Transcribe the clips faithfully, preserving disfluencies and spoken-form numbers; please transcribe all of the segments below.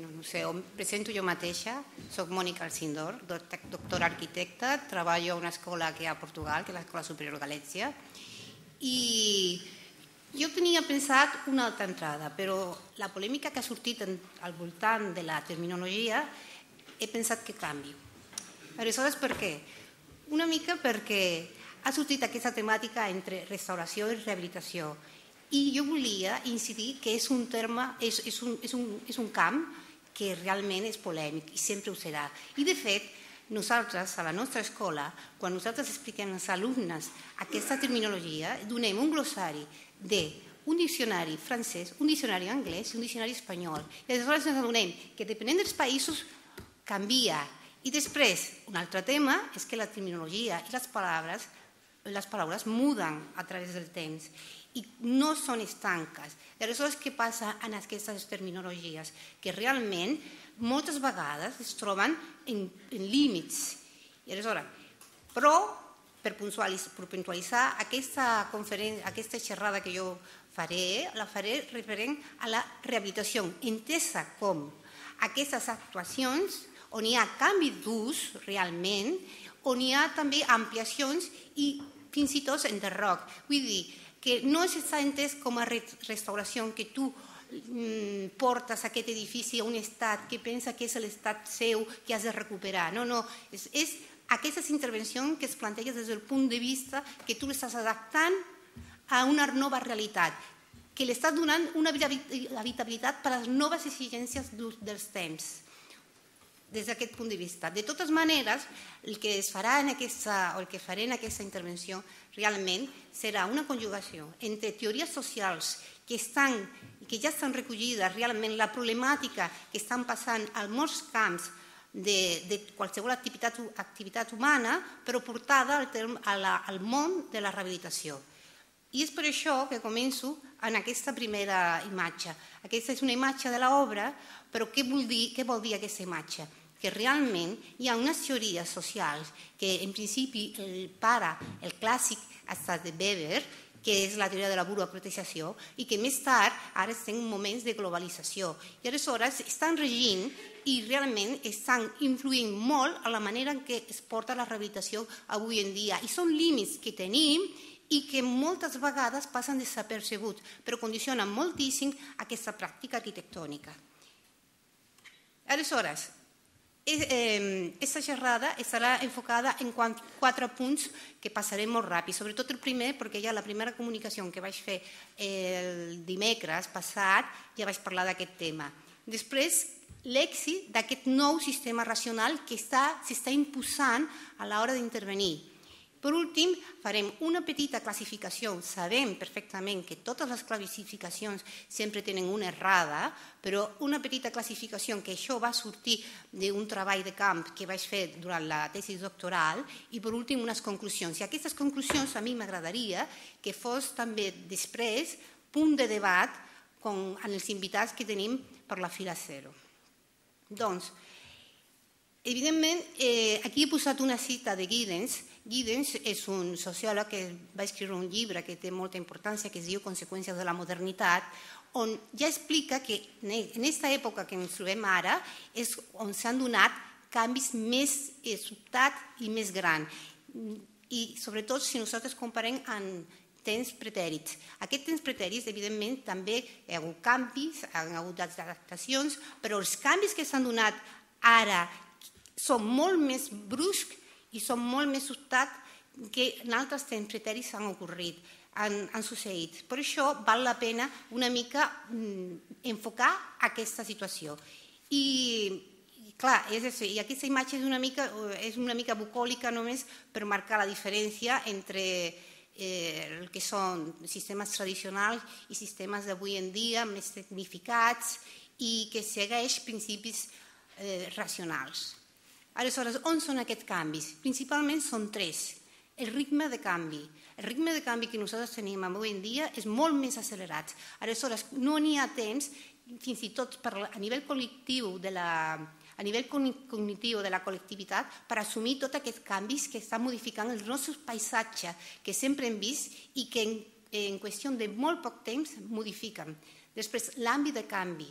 bueno, no sé, em presento jo mateixa, soc Mònica Alcindor, doctora arquitecta, treballo a una escola que hi ha a Portugal, que és l'Escola Superior Galècia, i jo tenia pensat una altra entrada, però la polèmica que ha sortit al voltant de la terminologia he pensat que canvi. Aleshores, per què? Una mica perquè ha sortit aquesta temàtica entre restauració i rehabilitació, i jo volia incidir que és un terme, és, és, un, és, un, és un camp que realment és polèmic i sempre ho serà. I de fet, nosaltres, a la nostra escola, quan nosaltres expliquem als alumnes aquesta terminologia, donem un glossari d'un diccionari francès, un diccionari anglès i un diccionari espanyol. I aleshores ens adonem que depenent dels països canvia. I després, un altre tema és que la terminologia i les paraules, les paraules muden a través del temps i no són estanques. I aleshores què passa en aquestes terminologies? Que realment moltes vegades es troben en, en límits. I aleshores, però per puntualitzar aquesta conferència, aquesta xerrada que jo faré, la faré referent a la rehabilitació, entesa com aquestes actuacions on hi ha canvi d'ús realment, on hi ha també ampliacions i fins i tot enderroc. Vull dir, que no està entès com a restauració que tu portes aquest edifici a un estat que pensa que és l'estat seu que has de recuperar. No, no, és, és aquestes intervencions que es plantegen des del punt de vista que tu l'estàs adaptant a una nova realitat, que li estàs donant una habitabilitat per a les noves exigències dels temps. Des d'aquest punt de vista. De totes maneres, el que es farà en aquesta, o el que faré en aquesta intervenció realment serà una conjugació entre teories socials que, estan, que ja estan recollides realment la problemàtica que estan passant a molts camps de, de qualsevol activitat, activitat humana, però portada al, term, a la, al món de la rehabilitació. I és per això que començo en aquesta primera imatge. Aquesta és una imatge de l'obra, però què vol dir, què vol dir aquesta imatge? Que realment hi ha unes teories socials que en principi el pare, el clàssic ha estat de Weber, que és la teoria de la burocratització, i que més tard ara estem en moments de globalització. I aleshores estan regint i realment estan influint molt a la manera en què es porta la rehabilitació avui en dia. I són límits que tenim i que moltes vegades passen desapercebuts, però condicionen moltíssim aquesta pràctica arquitectònica. Aleshores, aquesta xerrada estarà enfocada en quatre punts que passarem molt ràpid, sobretot el primer, perquè ja la primera comunicació que vaig fer el dimecres passat ja vaig parlar d'aquest tema. Després, l'èxit d'aquest nou sistema racional que s'està imposant a l'hora d'intervenir. Per últim, farem una petita classificació. Sabem perfectament que totes les classificacions sempre tenen una errada, però una petita classificació que això va sortir d'un treball de camp que vaig fer durant la tesi doctoral i, per últim, unes conclusions. I aquestes conclusions a mi m'agradaria que fos també després punt de debat amb els invitats que tenim per la fila zero. Doncs, evidentment, aquí he posat una cita de Giddens. Giddens és un sociòleg que va escriure un llibre que té molta importància, que es diu Conseqüències de la modernitat, on ja explica que en aquesta època que ens trobem ara és on s'han donat canvis més sobtats i més grans. I sobretot si nosaltres comparem amb temps pretèrits. Aquests temps pretèrits, evidentment, també hi ha hagut canvis, hi ha hagut adaptacions, però els canvis que s'han donat ara són molt més bruscs i són molt més sobtats que en altres temps pretèrits han ocorrit, han succeït. Per això val la pena una mica enfocar aquesta situació. I clar, i aquesta imatge és una mica bucòlica només per marcar la diferència entre el que són sistemes tradicionals i sistemes d'avui en dia més tecnificats i que segueix principis racionals. Aleshores, on són aquests canvis? Principalment són tres. El ritme de canvi. El ritme de canvi que nosaltres tenim avui en dia és molt més accelerat. Aleshores, no n'hi ha temps, fins i tot a nivell cognitiu de la a nivell cognitiu de la col·lectivitat per assumir tots aquests canvis que estan modificant el nostre paisatge que sempre hem vist i que en qüestió de molt poc temps modifiquen. Després, l'àmbit de canvi.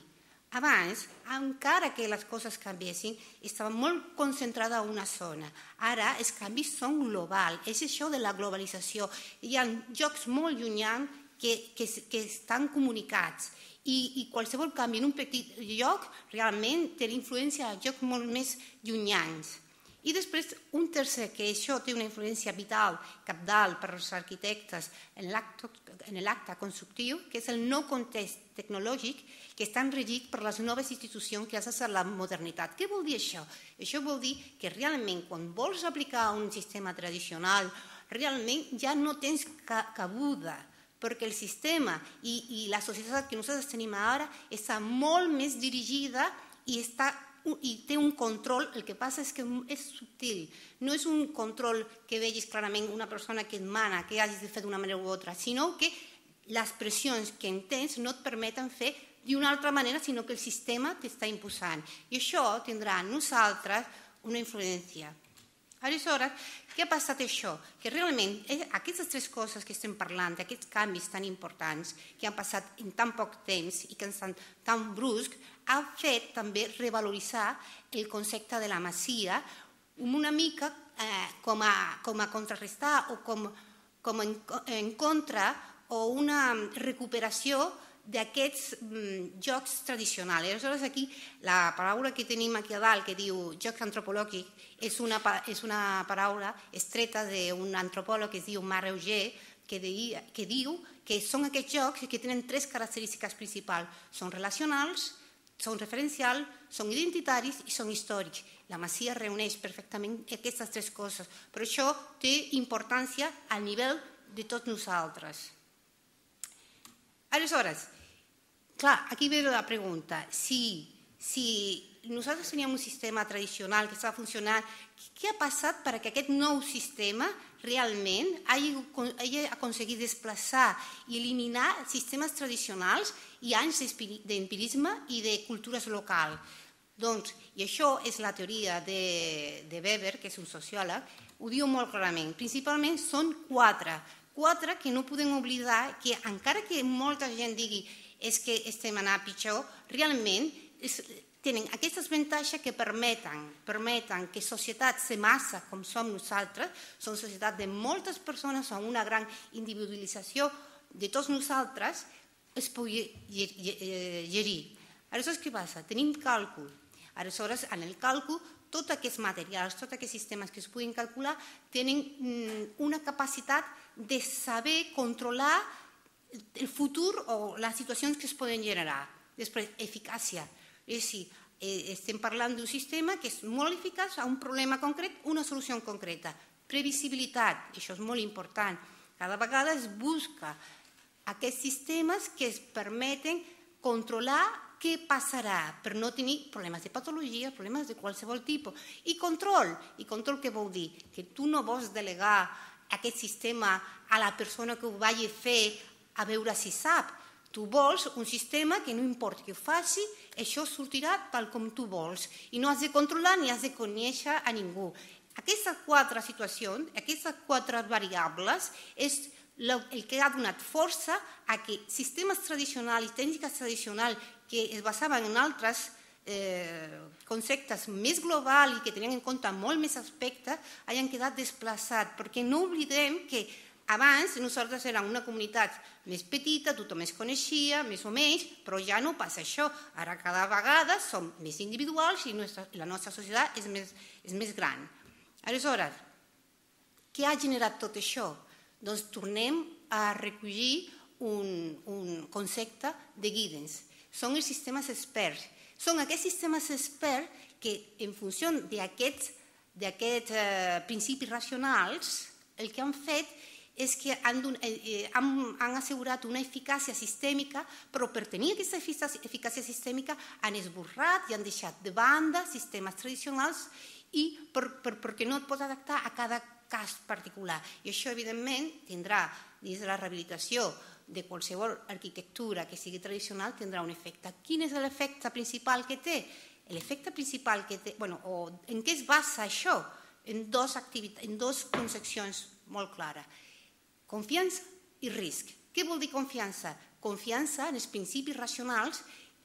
Abans, encara que les coses canviessin, estava molt concentrada a una zona. Ara els canvis són globals, és això de la globalització. Hi ha llocs molt llunyans que, que, que estan comunicats i, i qualsevol canvi en un petit lloc realment té influència a llocs molt més llunyans. I després, un tercer, que això té una influència vital, cabdal per als arquitectes en l'acte constructiu, que és el nou context tecnològic que està regit per les noves institucions gràcies a la modernitat. Què vol dir això? Això vol dir que realment quan vols aplicar un sistema tradicional, realment ja no tens cabuda, perquè el sistema i, i la societat que nosaltres tenim ara està molt més dirigida i està i té un control, el que passa és que és subtil, no és un control que vegis clarament una persona que et mana, que hagis de fer d'una manera u altra, sinó que les pressions que tens no et permeten fer d'una altra manera, sinó que el sistema t'està imposant. I això tindrà en nosaltres una influència. Aleshores, què ha passat això? Que realment aquestes tres coses que estem parlant, aquests canvis tan importants que han passat en tan poc temps i que han estat tan bruscs, ha fet també revaloritzar el concepte de la masia una mica eh, com, a, com a contrarrestar o com, com en, en contra o una recuperació d'aquests mm, jocs tradicionals. Aleshores, aquí la paraula que tenim aquí a dalt, que diu joc antropològic, és una, és una paraula estreta d'un antropòleg que es diu Marc Auger, que, de, que diu que són aquests jocs que tenen tres característiques principals. Són relacionals, són referencials, són identitaris i són històrics. La Masia reuneix perfectament aquestes tres coses, però això té importància a nivell de tots nosaltres. Aleshores, clar, aquí ve la pregunta, si, si nosaltres teníem un sistema tradicional que estava funcionant, què ha passat perquè aquest nou sistema realment hagi, hagi aconseguit desplaçar i eliminar sistemes tradicionals i anys d'empirisme i de cultures locals? Doncs, i això és la teoria de, de Weber, que és un sociòleg, ho diu molt clarament. Principalment són quatre, quatre que no podem oblidar que encara que molta gent digui és que estem anant pitjor, realment és, tenen aquestes avantatges que permeten, permeten que societats de massa com som nosaltres, són societats de moltes persones amb una gran individualització de tots nosaltres, es pugui gerir. Aleshores, què passa? Tenim càlcul. Aleshores, en el càlcul, tots aquests materials, tots aquests sistemes que es puguin calcular, tenen una capacitat de saber controlar el futur o les situacions que es poden generar. Després, eficàcia. És a dir, estem parlant d'un sistema que és molt eficaç a un problema concret, una solució concreta. Previsibilitat, això és molt important. Cada vegada es busca aquests sistemes que es permeten controlar què passarà per no tenir problemes de patologia, problemes de qualsevol tipus. I control. I control què vol dir? Que tu no vols delegar aquest sistema a la persona que ho vagi a fer a veure si sap. Tu vols un sistema que no importa que ho faci, això sortirà tal com tu vols. I no has de controlar ni has de conèixer a ningú. Aquestes quatre situacions, aquestes quatre variables, és el que ha donat força a que sistemes tradicionals i tècniques tradicionals que es basaven en altres eh, conceptes més globals i que tenien en compte molt més aspectes, hagin quedat desplaçats. Perquè no oblidem que abans nosaltres érem una comunitat més petita, tothom es coneixia, més o menys, però ja no passa això. Ara cada vegada som més individuals i la nostra societat és més, és més gran. Aleshores, què ha generat tot això? Doncs tornem a recollir un, un concepte de guidance. Són els sistemes experts. Són aquests sistemes experts que, en funció d'aquests d'aquests eh, principis racionals, el que han fet és que han, eh, han, han assegurat una eficàcia sistèmica, però per tenir aquesta eficàcia sistèmica han esborrat i han deixat de banda sistemes tradicionals i per, per, perquè no et pots adaptar a cada cas particular. I això, evidentment, tindrà, dins de la rehabilitació de qualsevol arquitectura que sigui tradicional, tindrà un efecte. Quin és l'efecte principal que té? L'efecte principal que té, bueno, o en què es basa això? En dos activitats, en dos concepcions molt clares. Confiança i risc. Què vol dir confiança? Confiança en els principis racionals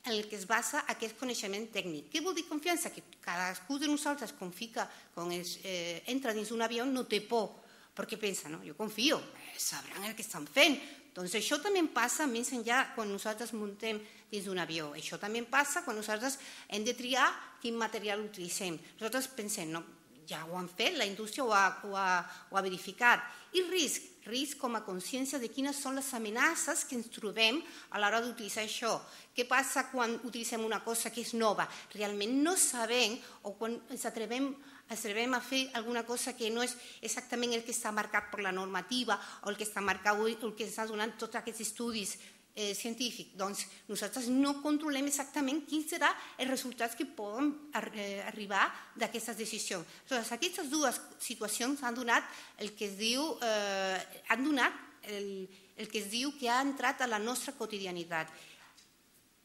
en el que es basa aquest coneixement tècnic. Què vol dir confiança? Que cadascú de nosaltres confia, quan es, eh, entra dins d'un avió, no té por, perquè pensa, no, jo confio, eh, sabran el que estan fent. Doncs això també passa més enllà quan nosaltres muntem dins d'un avió. Això també passa quan nosaltres hem de triar quin material utilitzem. Nosaltres pensem, no, ja ho han fet, la indústria ho ha, ho ha, ho ha verificat. I risc, risc com a consciència de quines són les amenaces que ens trobem a l'hora d'utilitzar això. Què passa quan utilitzem una cosa que és nova? Realment no sabem, o quan ens atrevem ens atrevem a fer alguna cosa que no és exactament el que està marcat per la normativa o el que està marcat o el que ens ha donat tots aquests estudis eh, científics. Doncs nosaltres no controlem exactament quins seran els resultats que poden eh, arribar d'aquestes decisions. Aleshores, aquestes dues situacions han donat el que es diu, eh, han donat el, el que es diu que ha entrat a la nostra quotidianitat.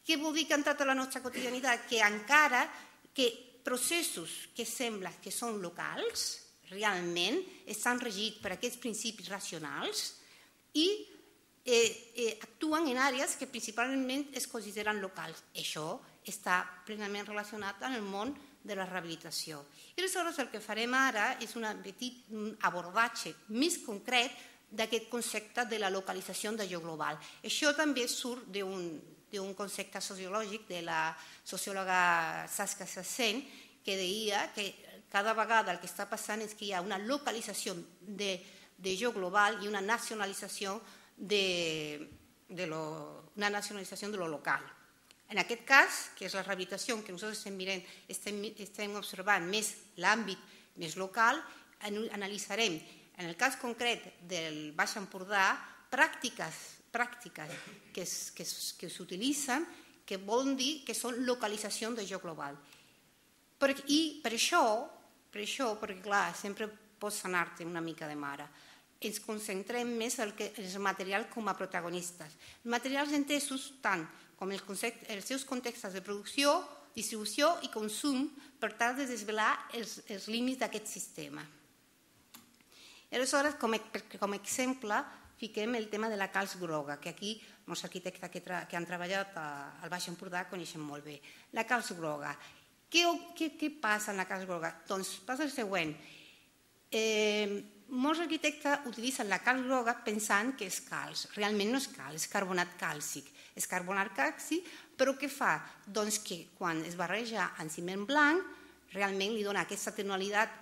Què vol dir que ha entrat a la nostra quotidianitat? Que encara que processos que sembla que són locals, realment estan regits per aquests principis racionals i eh, eh, actuen en àrees que principalment es consideren locals. Això està plenament relacionat amb el món de la rehabilitació. I aleshores el que farem ara és un petit abordatge més concret d'aquest concepte de la localització de lloc global. Això també surt d'un d'un concepte sociològic de la sociòloga Saskia Sassen, que deia que cada vegada el que està passant és que hi ha una localització de, de lloc global i una nacionalització de, de lo, una nacionalització de lo local. En aquest cas, que és la rehabilitació que nosaltres estem, mirant, estem, estem observant més l'àmbit més local, analitzarem, en el cas concret del Baix Empordà, pràctiques pràctiques que, es, que, es, que s'utilitzen, que volen dir que són localització de lloc global. Per, I per això, per això, perquè clar, sempre pots anar-te una mica de mare, ens concentrem més en el, el material com a protagonistes. Els materials entesos tant com el concept, els seus contextos de producció, distribució i consum per tal de desvelar els, els límits d'aquest sistema. I aleshores, com, com a exemple, fiquem el tema de la calç groga, que aquí els arquitectes que, tra que han treballat al Baix Empordà coneixen molt bé. La calç groga. Què, què, què passa en la calç groga? Doncs passa el següent. Eh, molts arquitectes utilitzen la calç groga pensant que és calç. Realment no és calç, és carbonat càlcic. És carbonat càlcic, però què fa? Doncs que quan es barreja en ciment blanc, realment li dona aquesta tonalitat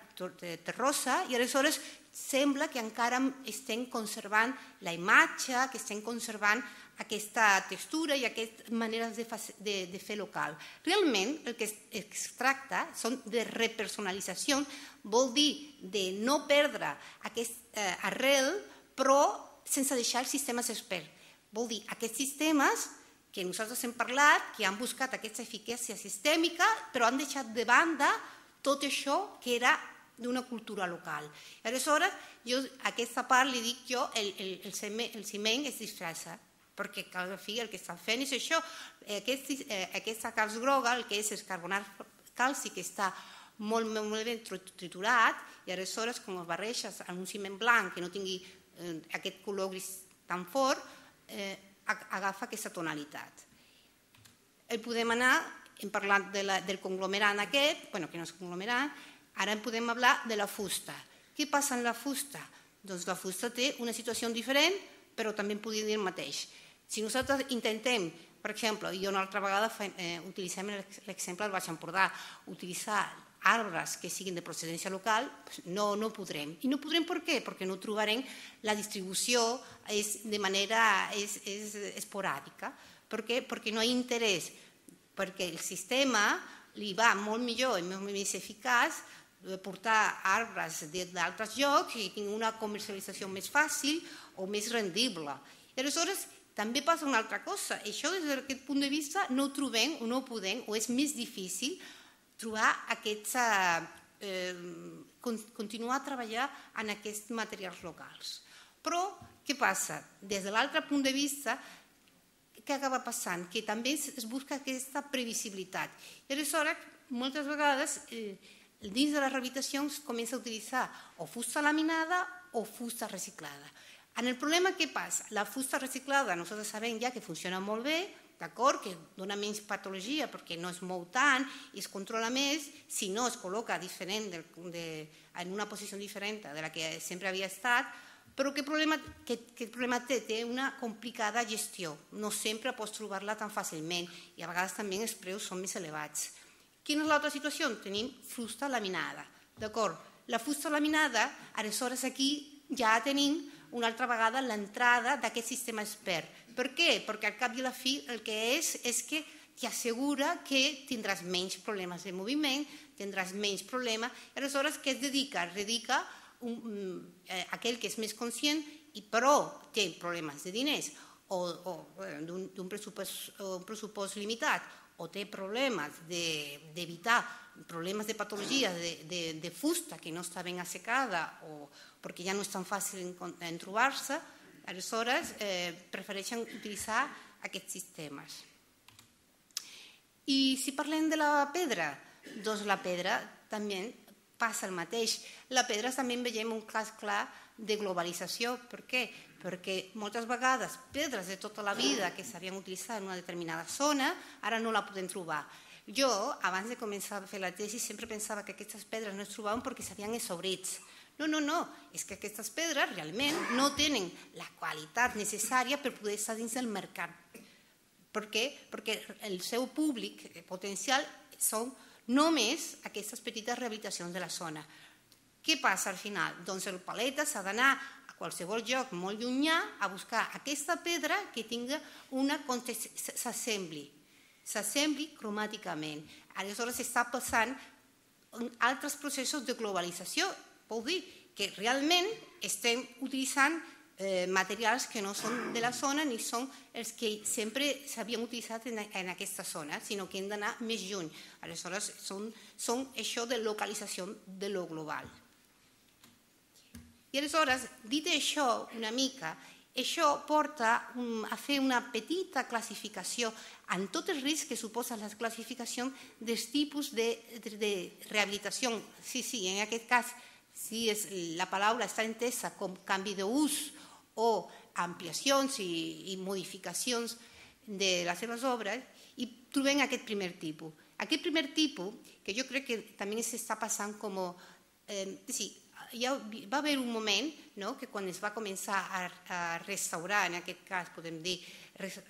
terrosa i aleshores sembla que encara estem conservant la imatge, que estem conservant aquesta textura i aquestes maneres de, de, de fer local. Realment el que es, es tracta són de repersonalització, vol dir de no perdre aquest eh, arrel, però sense deixar els sistemes experts. Vol dir aquests sistemes que nosaltres hem parlat, que han buscat aquesta eficàcia sistèmica, però han deixat de banda tot això que era d'una cultura local. Aleshores, jo a aquesta part li dic jo, el, el, el, ciment, el ciment es disfressa, perquè al fi el que està fent és això, aquest, eh, aquesta calç groga, el que és el carbonat càlcic, que està molt, molt ben triturat, i aleshores, com el barreges en un ciment blanc que no tingui eh, aquest color gris tan fort, eh, agafa aquesta tonalitat. El podem anar, hem parlat de la, del conglomerat aquest, bueno, que no és conglomerat, ara en podem parlar de la fusta. Què passa amb la fusta? Doncs la fusta té una situació diferent, però també en podríem dir el mateix. Si nosaltres intentem, per exemple, i una altra vegada eh, utilitzem l'exemple del Baix Empordà, utilitzar arbres que siguin de procedència local, no, no podrem. I no podrem per què? Perquè no trobarem la distribució és de manera és, és esporàdica. Per què? Perquè no hi ha interès, perquè el sistema li va molt millor i molt més eficaç portar arbres d'altres llocs i tinc una comercialització més fàcil o més rendible. I aleshores també passa una altra cosa. Això des d'aquest punt de vista no ho trobem o no ho podem o és més difícil trobar aquests, eh, continuar a treballar en aquests materials locals. Però què passa? Des de l'altre punt de vista, què acaba passant? Que també es busca aquesta previsibilitat. I aleshores, moltes vegades, eh, dins de les rehabilitacions comença a utilitzar o fusta laminada o fusta reciclada. En el problema què passa? La fusta reciclada nosaltres sabem ja que funciona molt bé d'acord, que dona menys patologia perquè no es mou tant i es controla més, si no es col·loca diferent de, de, en una posició diferent de la que sempre havia estat, però què problema, què, què problema té? Té una complicada gestió, no sempre pots trobar-la tan fàcilment i a vegades també els preus són més elevats. Quina és l'altra situació? Tenim fusta laminada, d'acord? La fusta laminada, aleshores aquí ja tenim una altra vegada l'entrada d'aquest sistema expert. Per què? Perquè al cap i a la fi el que és és que t'assegura que tindràs menys problemes de moviment, tindràs menys problemes, i aleshores què es dedica? Es dedica un, eh, aquell que és més conscient i però té problemes de diners o, o d'un pressupost, un pressupost limitat o té problemes d'evitar de, problemes de patologia de, de, de fusta que no està ben assecada o perquè ja no és tan fàcil en, en trobar-se, aleshores eh, prefereixen utilitzar aquests sistemes. I si parlem de la pedra, doncs la pedra també passa el mateix. La pedra també en veiem un cas clar de globalització. Per què? Perquè moltes vegades pedres de tota la vida que s'havien utilitzat en una determinada zona ara no la podem trobar. Jo, abans de començar a fer la tesi, sempre pensava que aquestes pedres no es trobaven perquè s'havien exhaurits. No, no, no, és que aquestes pedres realment no tenen la qualitat necessària per poder estar dins del mercat. Per què? Perquè el seu públic potencial són només aquestes petites rehabilitacions de la zona. Què passa al final? Doncs el paleta s'ha d'anar a qualsevol lloc molt llunyà a buscar aquesta pedra que tingui una s'assembli, s'assembli cromàticament. Aleshores s'està passant altres processos de globalització. Vol dir que realment estem utilitzant eh, materials que no són de la zona ni són els que sempre s'havien utilitzat en, en aquesta zona, sinó que hem d'anar més lluny. Aleshores, són, són això de localització de lo global. I aleshores, dit això una mica, això porta a fer una petita classificació en tot el risc que suposa la classificació dels tipus de, de, de rehabilitació. Sí, sí, en aquest cas, si és, la paraula està entesa com canvi d'ús o ampliacions i, i modificacions de les seves obres, i trobem aquest primer tipus. Aquest primer tipus, que jo crec que també s'està passant com... Eh, sí, ja va haver un moment, no?, que quan es va començar a, a restaurar, en aquest cas podem dir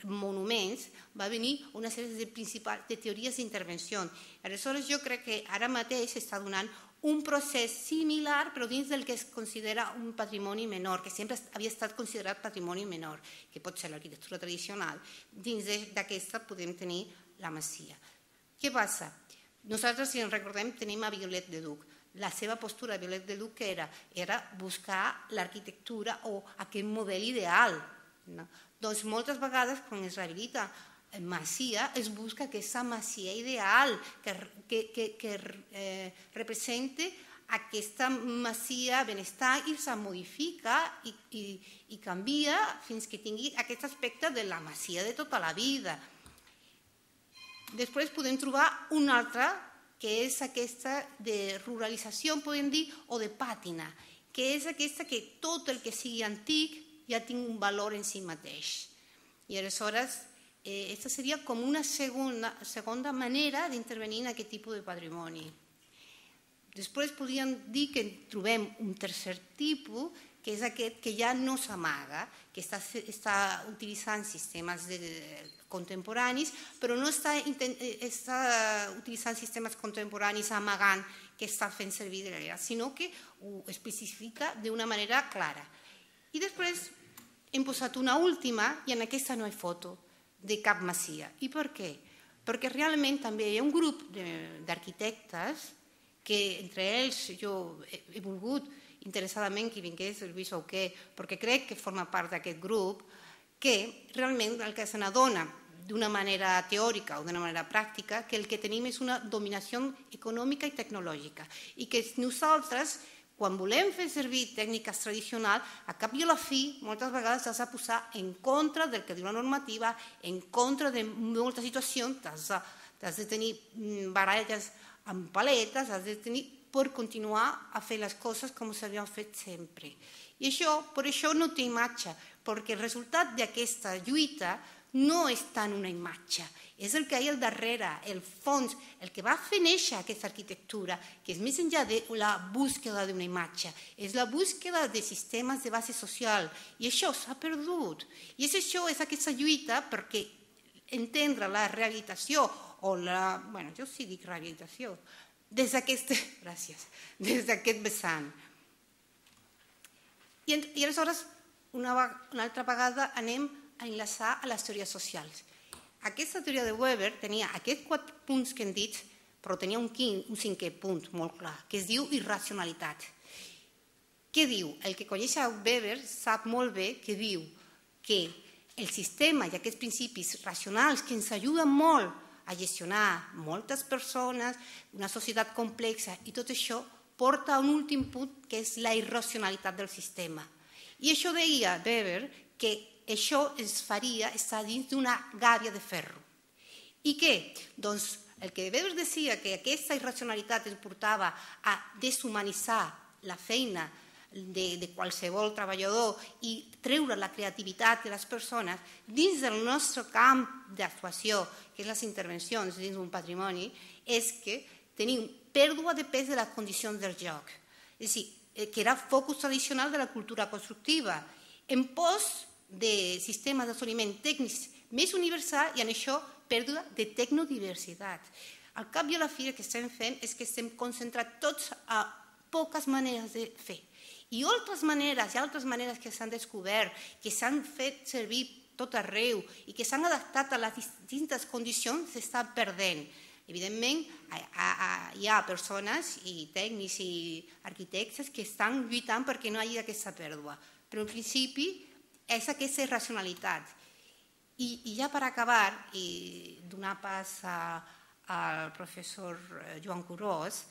monuments, va venir una sèrie de, principals, de teories d'intervenció. Aleshores jo crec que ara mateix s'està donant un procés similar però dins del que es considera un patrimoni menor, que sempre havia estat considerat patrimoni menor, que pot ser l'arquitectura tradicional. Dins d'aquesta podem tenir la masia. Què passa? Nosaltres, si ens recordem, tenim a Violet de Duc. La seva postura de Violet de Duc era, era buscar l'arquitectura o aquest model ideal. No? Doncs moltes vegades quan es rehabilita masia es busca aquesta masia ideal que, que, que, que eh, represente aquesta masia benestar i se modifica i, i, i canvia fins que tingui aquest aspecte de la masia de tota la vida. Després podem trobar una altra que és aquesta de ruralització, podem dir, o de pàtina, que és aquesta que tot el que sigui antic ja tingui un valor en si mateix. I aleshores aquesta seria com una segona, segona manera d'intervenir en aquest tipus de patrimoni. Després podríem dir que trobem un tercer tipus, que és aquest que ja no s'amaga, que està, està utilitzant sistemes de, de, contemporanis, però no està, està utilitzant sistemes contemporanis amagant que està fent servir de l'era, sinó que ho especifica d'una manera clara. I després hem posat una última, i en aquesta no hi ha foto de cap masia. I per què? Perquè realment també hi ha un grup d'arquitectes que entre ells jo he volgut interessadament que vingués el Lluís Auqué, perquè crec que forma part d'aquest grup, que realment el que se n'adona d'una manera teòrica o d'una manera pràctica que el que tenim és una dominació econòmica i tecnològica i que nosaltres, quan volem fer servir tècniques tradicionals, a cap i a la fi, moltes vegades has de posar en contra del que diu la normativa, en contra de moltes situacions, has de, has de tenir baralles amb paletes, has de tenir per continuar a fer les coses com s'havien fet sempre. I això, per això no té imatge, perquè el resultat d'aquesta lluita no està en una imatge, és el que hi ha al darrere, el fons, el que va fer néixer aquesta arquitectura, que és més enllà de la búsqueda d'una imatge, és la búsqueda de sistemes de base social, i això s'ha perdut. I és això, és aquesta lluita perquè entendre la rehabilitació, o la, bueno, jo sí dic rehabilitació, des d'aquest, gràcies, des d'aquest vessant. I, i aleshores, una, una altra vegada anem a enlaçar a les teories socials. Aquesta teoria de Weber tenia aquests quatre punts que hem dit, però tenia un, quin, un cinquè punt molt clar, que es diu irracionalitat. Què diu? El que coneix a Weber sap molt bé que diu que el sistema i aquests principis racionals que ens ajuden molt a gestionar moltes persones, una societat complexa i tot això porta a un últim punt que és la irracionalitat del sistema. I això deia Weber que això ens faria estar dins d'una gàbia de ferro. I què? Doncs el que Weber deia que aquesta irracionalitat ens portava a deshumanitzar la feina de, de qualsevol treballador i treure la creativitat de les persones dins del nostre camp d'actuació, que és les intervencions dins d'un patrimoni, és que tenim pèrdua de pes de les condicions del joc. És a dir, que era focus tradicional de la cultura constructiva, en pos de sistemes d'assoliment tècnics més universal i en això pèrdua de tecnodiversitat. Al cap i a la fi el que estem fent és que estem concentrats tots a poques maneres de fer. I altres maneres, i altres maneres que s'han descobert, que s'han fet servir tot arreu i que s'han adaptat a les distintes condicions, s'estan perdent. Evidentment, hi ha persones i tècnics i arquitectes que estan lluitant perquè no hi hagi aquesta pèrdua. Però en principi és aquesta irracionalitat. I ja per acabar, i donar pas al professor Joan Curós,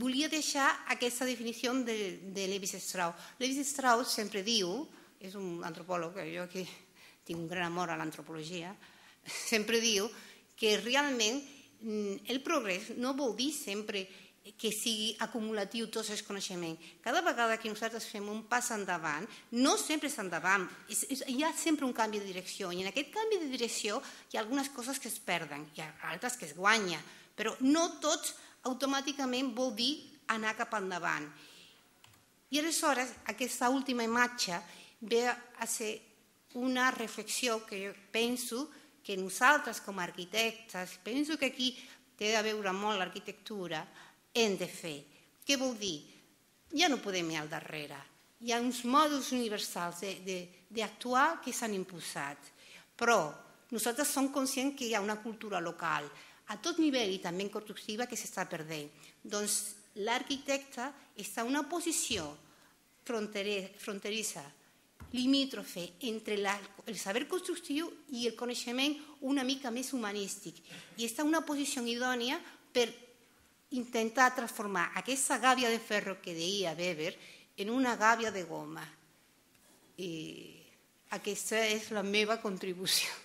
volia deixar aquesta definició de Lévi-Strauss. Lévi-Strauss sempre diu, és un antropòleg, jo que tinc un gran amor a l'antropologia, sempre diu que realment el progrés no vol dir sempre que sigui acumulatiu tots els coneixements. Cada vegada que nosaltres fem un pas endavant, no sempre és endavant, hi ha sempre un canvi de direcció, i en aquest canvi de direcció hi ha algunes coses que es perden, hi ha altres que es guanyen, però no tots automàticament vol dir anar cap endavant. I aleshores aquesta última imatge ve a ser una reflexió que jo penso que nosaltres com a arquitectes, penso que aquí té a veure molt l'arquitectura, hem de fer. Què vol dir? Ja no podem ir al darrere. Hi ha uns mòduls universals d'actuar que s'han imposat, però nosaltres som conscients que hi ha una cultura local a tot nivell i també constructiva que s'està perdent. Doncs l'arquitecte està en una posició fronterissa, limítrofe entre el saber constructiu i el coneixement una mica més humanístic, i està en una posició idònia per intentar transformar aquesta gàbia de ferro que deia Weber en una gàbia de goma. I aquesta és la meva contribució.